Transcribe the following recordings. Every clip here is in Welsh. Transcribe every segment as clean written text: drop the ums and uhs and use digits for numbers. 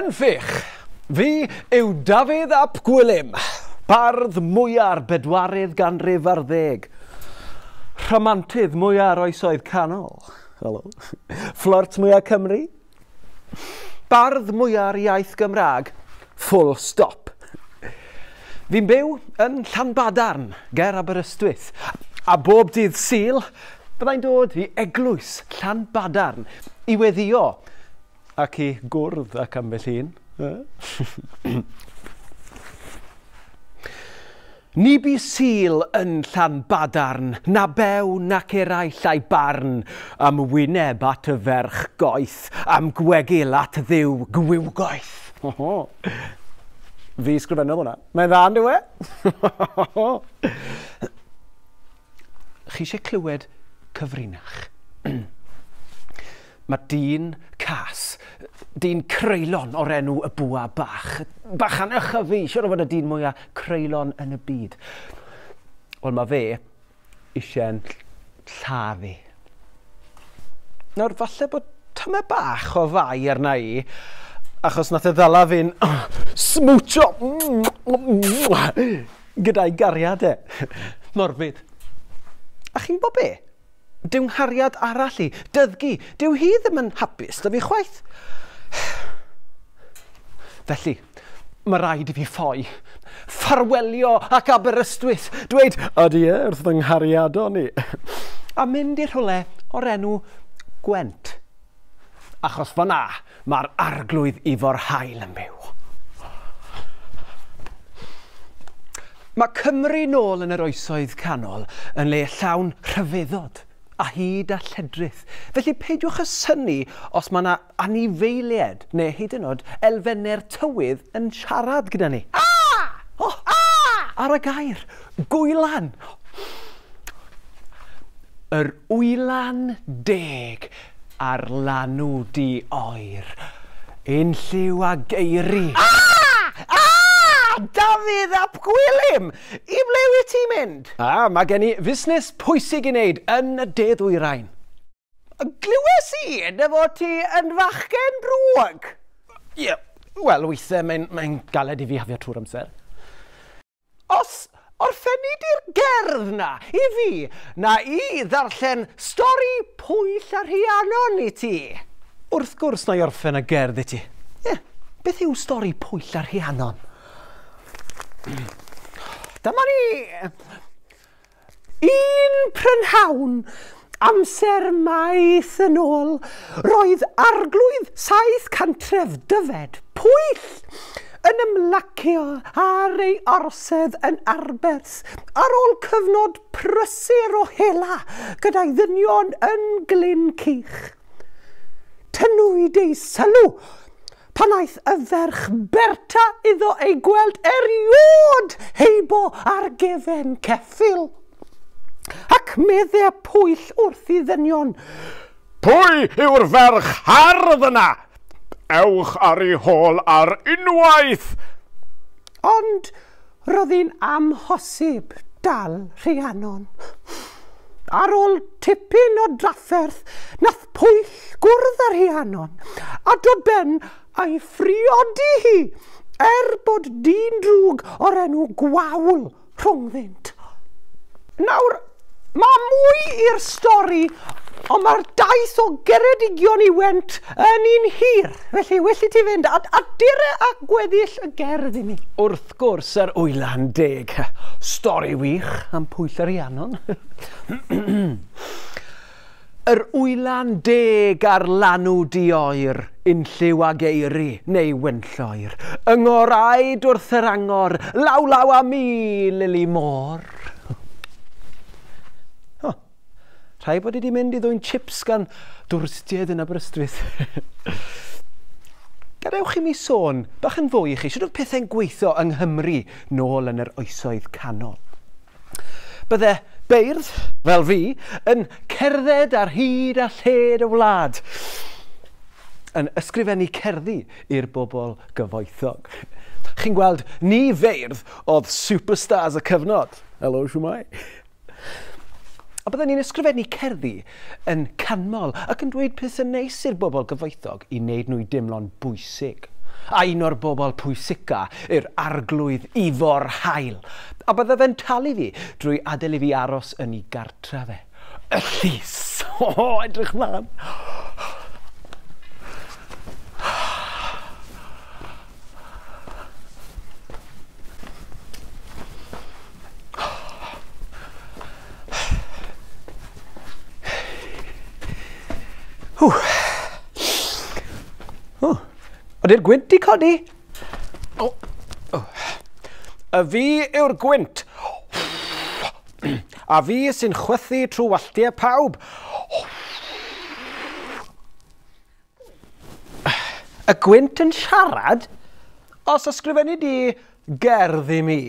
Ffych! Fi yw Dafydd ap Gwilym, bardd mwya'r bedwaredd ganrif ar ddeg, rhamantydd mwya'r oesoedd canol, helo, fflert mwya Cymru, bardd mwya'r iaith Gymraeg, full stop. Fi'n byw yn Llanbadarn, ger Aberystwyth, a bob dydd Sul byddai'n dod i eglwys Llanbadarn i weddïo ac i gwrdd ac ambell un. Ni bu Sul yn Llanbadarn, na bew nac eraill a'i barn, am wyneb at y ferch goeth, am gwegil at Dduw gwiwgoeth. Fi sgrifennodd hwnna. Mae'n dda, on'd yw e? Chi eisiau clywed cyfrinach? Mae dyn cas, dyn creulon o'r enw y Bwa Bach. Bachan ychyfu, siwr o fod y dyn mwyaf creulon yn y byd. Wel, mae fe eisiau'n lladd i. Nawr, falle bod tymed bach o fai arna i, achos nath e ddala fi'n smwtsio gyda'i gariad e. Morfydd. A chi'n gwybod be? Dyw nghariad arall i, Dyddgu, dyw hi ddim yn hapus 'da fi chwaith. Felly, mae rhaid i fi ffoi. Ffarwelio ac Aberystwyth, dweud adie wrth fy nghariadon i, a mynd i rhywle o'r enw Gwent. Achos fan'na mae'r Arglwydd Ifor Hael yn byw. Mae Cymru nôl yn yr Oesoedd Canol yn le llawn rhyfeddod a hud a lledrith, felly peidiwch â synnu os mae 'na anifeiliaid neu hyd yn oed elfennau'r tywydd yn siarad gyda ni. Ah! Oh! Ah! Ar y gair, gwylan! Yr wylan deg Ar lanw du oer. Unlliw a geiri. Ah! Ah! Dafydd ap Gwilym! I ble wyt ti'n mynd? Ah, mae gen i fusnes pwysig i wneud yn y de ddwyrain. Glywes i dy fod ti yn fachgen drwg. Ie, wel, weithiau mae'n mae galed i fi hafio trwy'r amser. Os orffenni di'r gerdd 'na i fi, na i ddarllen stori Pwyll a Rhiannon i ti. Wrth gwrs na i orffen y gerdd i ti. Ie, beth yw stori Pwyll a Rhiannon? Dyma ni! Un prynhawn, amser maith yn ôl, roedd arglwydd saith cantref Dyfed, Pwyll, yn ymlacio ar ei orsedd yn Arberth ar ôl cyfnod prysur o hela gyda'i ddynion yn Glyn Cych. Tynnwyd ei sylw Pan aeth y ferch Berta iddo ei gweld eriôd heibo ar gefen ceffyl. Ac medde Pwyll wrth i ddynion, Pwy yw'r ferch hardd yna? Ewch ar ei hôl ar unwaith! Ond roedd hi'n amhosib dal Rhiannon. Ar ôl tipyn o drafferth, nath Pwyll gwrdd â Rhiannon a dod ben a'i phriodi hi, er bod dyn drwg o'r enw Gwawl rhyngddynt. Nawr, mae mwy i'r stori, ond mae'r daith o Geredigion i Went yn un hir, felly well i ti fynd a, a dere a gweddill y gerdd i mi. Wrth gwrs, yr Wylan Deg. Stori wych am Pwyll a Rhiannon. Yr Wylan Deg ar lanw di-oer, unlliw ag eiri neu wynlloer, yng ngoraid wrth yr angor, law law â mi, Lili Môr. O, rhaid bod i wedi mynd i ddwyn chips gan dwristiaid yn Aberystwyth. Gadewch i mi sôn bach yn fwy i chi, sut oedd pethau'n gweithio yng Nghymru nôl yn yr oesoedd canol. Bydde beirdd, fel fi, yn cerdded ar hyd a lled y wlad, yn ysgrifennu cerddi i'r bobl gyfoethog. Chi'n gweld, ni feirdd oedd superstars y cyfnod. Helo, shwmae? A bydden ni'n ysgrifennu cerddi yn canmol ac yn dweud pethau neis i'r bobl gyfoethog i wneud nhw i deimlo'n bwysig. A un o'r bobl pwysica yw'r arglwydd Ifor Hael. A bydde fe'n talu fi drwy adael i fi aros yn ei gartre fe. Y llys! O, edrych mlaen! Ww. O, ydy'r gwynt di codi? O, o. Y fi yw'r gwynt. A fi sy'n chwythu trwy walltiau pawb. Y gwynt yn siarad? Os ysgrifennu di gerdd i mi,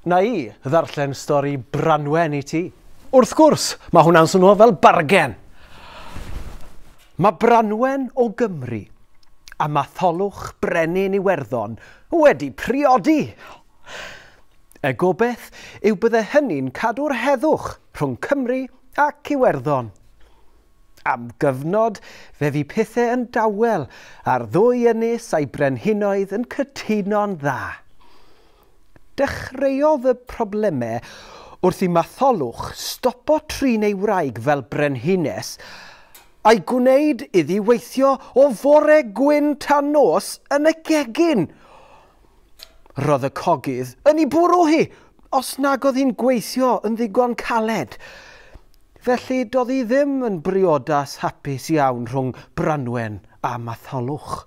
na i ddarllen stori Branwen i ti. Wrth gwrs, mae hwnna'n swnio fel bargen. Mae Branwen o Gymru a Matholwch Brenin Iwerddon wedi priodi. Y gobeith yw bydde hynny'n cadw'r heddwch rhwng Cymru ac Iwerddon. Am gyfnod, fe fu pethau yn dawel a'r ddwy ynys a'i brenhinoedd yn cytuno'n dda. Dechreuodd y problemau wrth i Matholwch stopo trin ei wraig fel brenhines a'i gwneud iddi weithio o fore gwyn tan nos yn y gegin. Roedd y cogydd yn ei bwrw hi, os nag oedd hi'n gweithio yn ddigon caled. Felly doedd hi ddim yn briodas hapus iawn rhwng Branwen a Matholwch.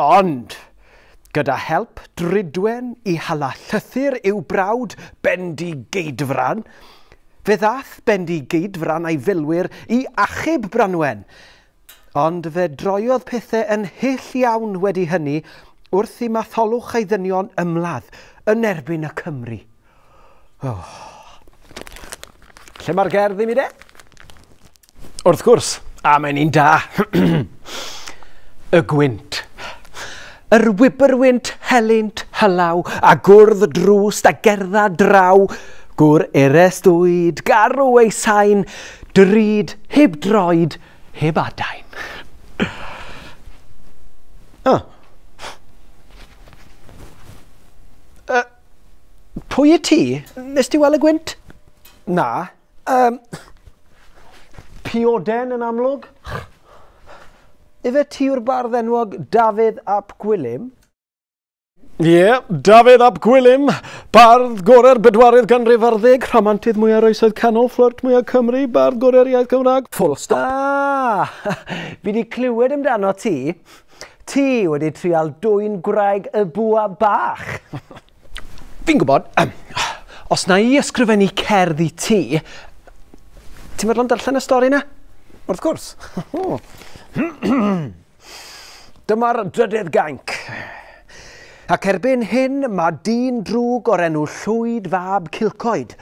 Ond, gyda help Drudwen i hala llythyr i'w brawd Bendigeidfran, fe ddath Bendigeidfran a'i filwyr i achub Branwen. Ond fe droiodd pethau yn hyll iawn wedi hynny wrth i Matholwch a'i ddynion ymladd yn erbyn y Cymry. Oh. Lle mae'r gerdd i mi de? Wrth gwrs, a mae'n un da. Y gwynt. Yr wybyrwynt helynt hylaw a gwrdd drwst a gerdda draw, gwr eres dwyd, garw ei sain, drud, heb droed, heb adain. Oh. Pwy y ti? Nes ti weld y gwynt? Na. Pioden yn amlwg. Ife ti yw'r bardd enwog Dafydd ap Gwilym? Ie, yeah, Dafydd ap Gwilym, bardd gorau'r bedwaredd ganrif ar ddeg, rhamantydd mwyaf oesoedd canol, fflirt mwyaf Cymru, bardd gorau'r iaith Gymraeg. Full stop. Ah, fi wedi clywed amdano ti. Ti wedi trial dwyn gwraig y bwa bach. Fi'n gwybod, os na i ysgrifennu cerdd i ti, ti'n meddwl am darllen y stori na? Wrth gwrs. Dyma'r drydydd gainc. Ac erbyn hyn mae dyn drwg o'r enw Llwyd fab Cilcoed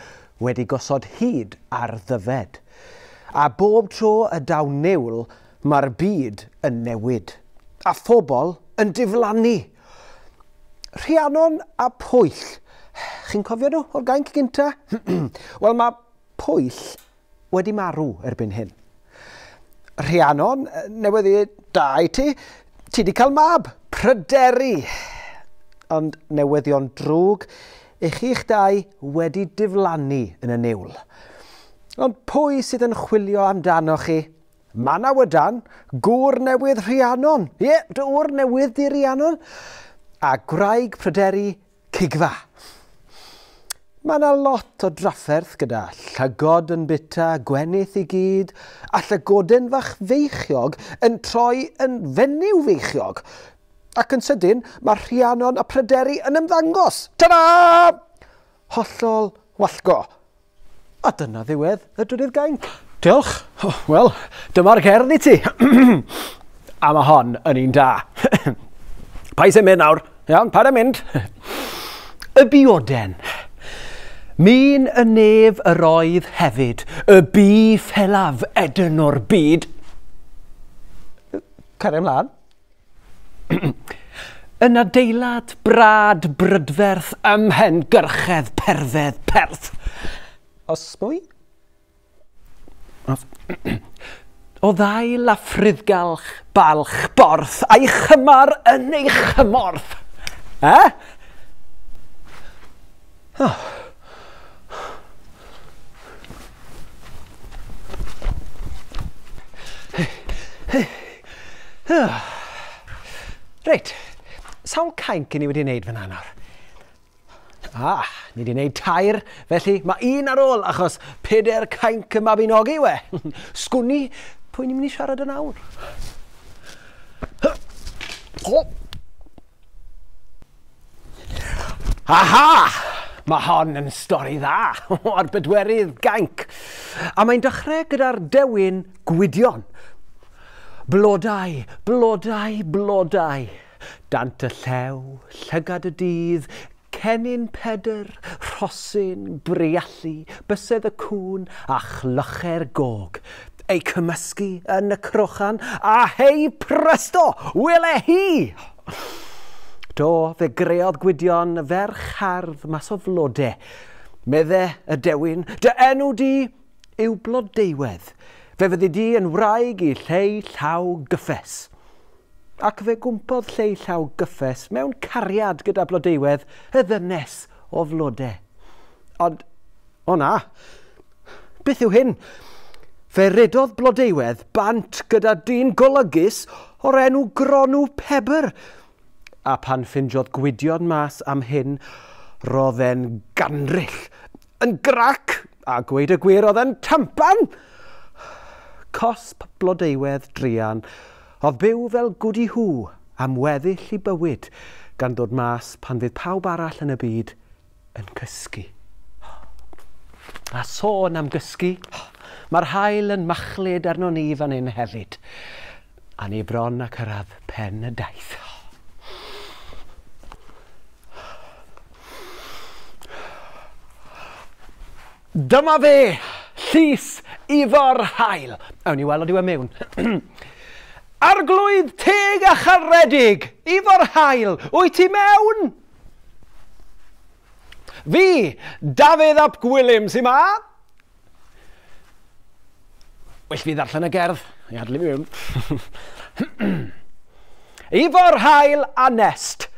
wedi gosod hyd ar Ddyfed. A bob tro y daw niwl, mae'r byd yn newid. A phobl yn diflannu. Rhiannon a Pwyll. Chi'n cofio nhw o'r gainc gynta? Wel, mae Pwyll wedi marw erbyn hyn. Rhiannon, newyddi da i ti, ti wedi cael mab, Pryderi. Ond newyddion drwg, i chi'ch dau wedi diflannu yn y niwl. Ond pwy sydd yn chwilio amdano chi? Manawydan, gŵr newydd Rhiannon. Ie, dy ŵr newydd di Rhiannon. A gwraig Pryderi, Cigfa. Mae yna lot o drafferth gyda llygod yn bita, gwenith i gyd, a llygoden fach feichiog yn troi yn fenyw feichiog. Ac yn sydyn, mae Rhiannon a Pryderi yn ymddangos. Ta-da! Hollol wallgo. A dyna ddiwedd y drydydd gainc. Diolch. Oh, wel, dyma'r gerdd i ti. A mae hon yn un da. Paid sy'n mynd nawr. Iawn, paid â mynd. Y bioden. Min y nef yr oedd hefyd, y bu ffelaf edyn o'r byd. Cario ymlaen. Yn adeilad brad brydferth ym mhen gyrchedd perfedd perth. Os mwy? O ddail a ffriddgalch, balch, borth, a'i chymar yn ei chymorth. Eh? Oh. Reit, sawl cainc i ni wedi wneud fan nawr? Ah, ni wedi wneud 3, felly mae un ar ôl achos 4 cainc y Mabinogi yw e. Sgwni, pwy ni'n mynd i siarad yn awr? Oh. Aha! Mae hon yn stori dda o'r bedwerydd gainc. A mae'n dechrau gyda'r dewin Gwydion. Blodau, blodau, blodau. Dant y llew, llygad y dydd, cennin Pedr, rhosyn, briallu, bysedd y cŵn a chlychau'r gog. Ei cymysgu yn y crochan a hei presto, wele hi! Do, fe greodd Gwydion ferch hardd mas o flodau. Medde y dewin, dy enw di yw Blodeuwedd. Fe fyddi di yn wraig i Lleu Llaw Gyffes. Ac fe gwmpodd Lleu Llaw Gyffes mewn cariad gyda Blodeuwedd, y ddynes o flodau. Ond, o na, beth yw hyn? Fe redodd Blodeuwedd bant gyda dyn golygus o'r enw Gronw Pebr. A pan ffindiodd Gwydion mas am hyn, roedd e'n gandryll, yn grac, a gweud y gwir oedd e'n tampan. Cosb Blodeuwedd druan, oedd byw fel gwdi hw am weddill i bywyd, gan ddod mas pan fydd pawb arall yn y byd yn cysgu. A sôn am gysgu, mae'r haul yn machlud arno ni fan hyn hefyd. A ni bron a cyrraedd pen y daith. Dyma fe, Llys Ifor Hael. Awn ni weld yw e mewn. Arglwydd teg a charedig, Ifor Hael, wyt ti mewn? Fi, Dafydd ap Gwilym sy'n ma. Well fi ddarllen y gerdd, i adlu fi mewn. Ifor Hael a Nest.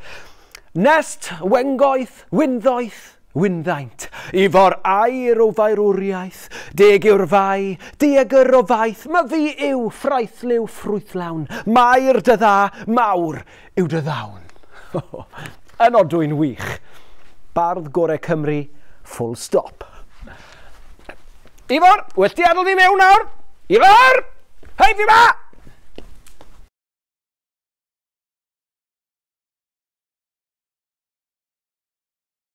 Nest, wengoeth, wynddoeth, wynddaint. Ifor air o faerwriaeth, deg yw'r fai, diegr o faith, ma fi yw ffraethliw ffrwythlawn, mair dy dda, mawr yw dy ddawn. Yn odwy'n wych. Bardd Gorau Cymru, full stop. Ifor, well di adael fi mewn nawr? Ifor! Hei, fi ma!